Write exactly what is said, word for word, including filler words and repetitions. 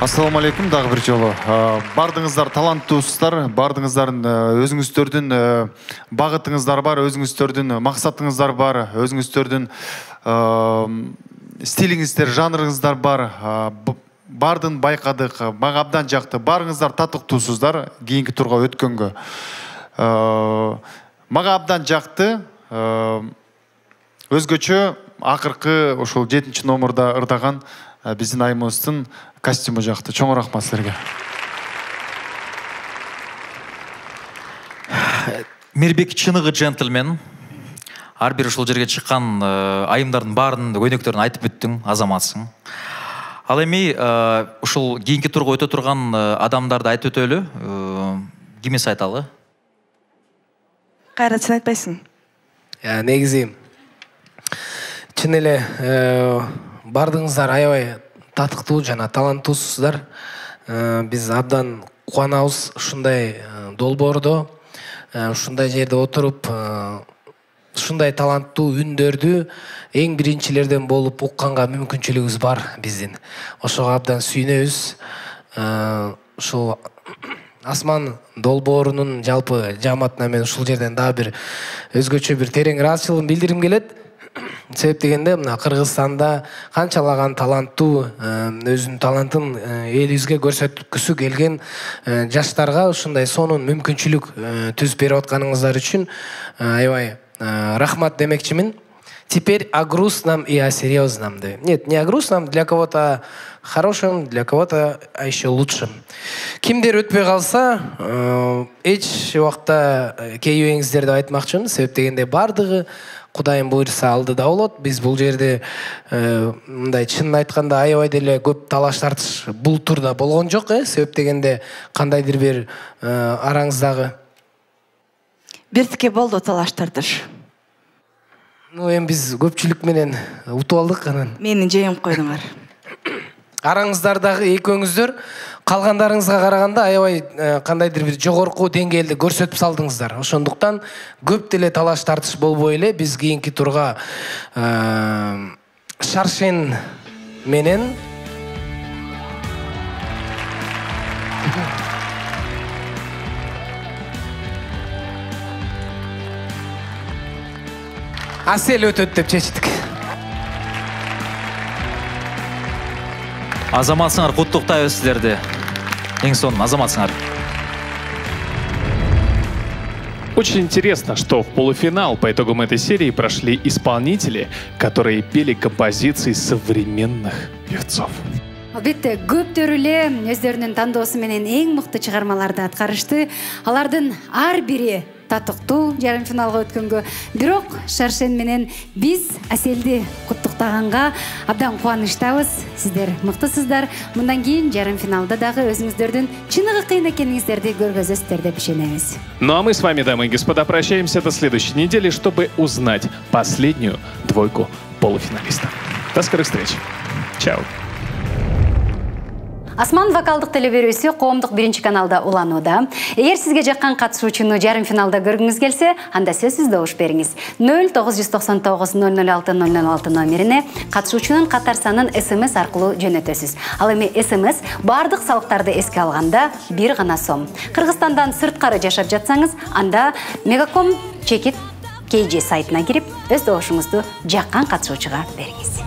Ассаламу алейкум, дагы бир жолу. Бардыңыздар таланттуусуздар, бардыңыздардын өзүңүздөрдүн багытыңыздар бар, өзүңүздөрдүн максатыңыздар бар, өзүңүздөрдүн стилиңиздер, жанрыңыздар бар. Бардын байкадык, мага абдан жакты. Барыңыздар татыктуусуздар кийинки турга өткөнгө. Мага абдан жакты. Өзгөчө акыркы ошол жетинчи номерда ырдаган биздин айымыбыздын костюму жакты. Чоң рахмат силерге. Мирбек чыныгы джентльмен. Ар бир ушул жерге чыккан айымдардын баарынын көйнөктөрүн айтып бүттүң, азаматсың. Ал эми ушул кийинки турга өтө турган адамдарды айтып өтөлү. Кимиз айталы? Кайрат, сен айтпайсың. Я негизи чын эле бардыңыздар аябай татыктуу жана таланттуусуздар. Биз абдан кубанабыз ушундай долбоордо, ушундай жерде отуруп, ушундай таланттуу үндөрдү эң биринчилерден болуп укканга мүмкүнчүлүгүбүз бар биздин. Ошого абдан сүйүнөбүз. Ушул Асман долбоорунун жалпы жамаатына мен ушул жерден дагы бир өзгөчө бир терең ыраазычылыгын билдирим келет. Себеп дегенде мына Кыргызстанда канчалаган таланттуу өзүнүн талантын элибизге көрсөткүсү келген жаштарга ушундай сонун мүмкүнчүлүк түзүп берип атканыңыздар үчүн аябай рахмат демекчимин. Теперь о грустном и о серьезном. Нет, не о грустном, для кого-то хорошим, для кого-то еще лучшим. Кимдер өтпөй калса, эч убакта кейбеңиздер деп айтмакчымын. Себеп дегенде бардыгы Кудайым буйрса алдыда болот. Биз бул жерде мындай чынын айтканда аябай деле көп талаш тартыш бул турда болгон жок, э? Себеп дегенде кандайдыр бир араңыздагы биртике болду талаш тартыш. Ну, эми биз көпчүлүк менен утуп алдык анан. Мени жеңип койдуңар. Араңыздардагы экөөңүздөр калгандарыңызга караганда аябай кандайдыр бир жогорку деңгээлде көрсөтүп салдыңыздар. Ошондуктан көп деле талаш тартыш болбой эле биз кийинки турга Шаршен менен Асел өтөт деп чечтик. Азаматсыңар, куттуктайбыз силерди. Эң сонун азаматсыңар. Очень интересно, что в полуфинал по итогам этой серии прошли исполнители, которые пели композиции современных певцов. Албетте, көптөр эле өздөрүнүн тандоосу менен эң мыкты чыгармаларды аткарышты. Алардын ар бири татыктуу жарым финалга өткөнгө. Бирок Шаршен менен биз Аселди куттуктаганга абдан кубанычтабыз. Сиздер мыктысыздар. Мындан кийин жарым финалда дагы өзүңүздөрдүн чыныгы кыйын экениңиздерди көргөзөсүздөр деп ишенебиз. Ну а мы с вами, дамы и господа, прощаемся до следующей недели, чтобы узнать последнюю двойку полуфиналистов. До скорых встреч. Чао. Асман вокалдык телеберүүсү коомдук биринчи каналда уланууда. Эгер сизге жаккан катышуучуну жарым финалда көргүңүз келсе, анда сөзсүз добуш бериңиз. нөл тогуз жүз токсон тогуз нөл нөл алты нөл нөл алты номерине катышуучунун катар санын смс аркылуу жөнөтөсүз. Ал эми смс бардык салыктарды эске алганда бир гана сом. Кыргызстандан сырткары жашап жатсаңыз, анда Мегаком чекит кей же сайтына кирип, өз добушуңузду жаккан катышуучуга бериңиз.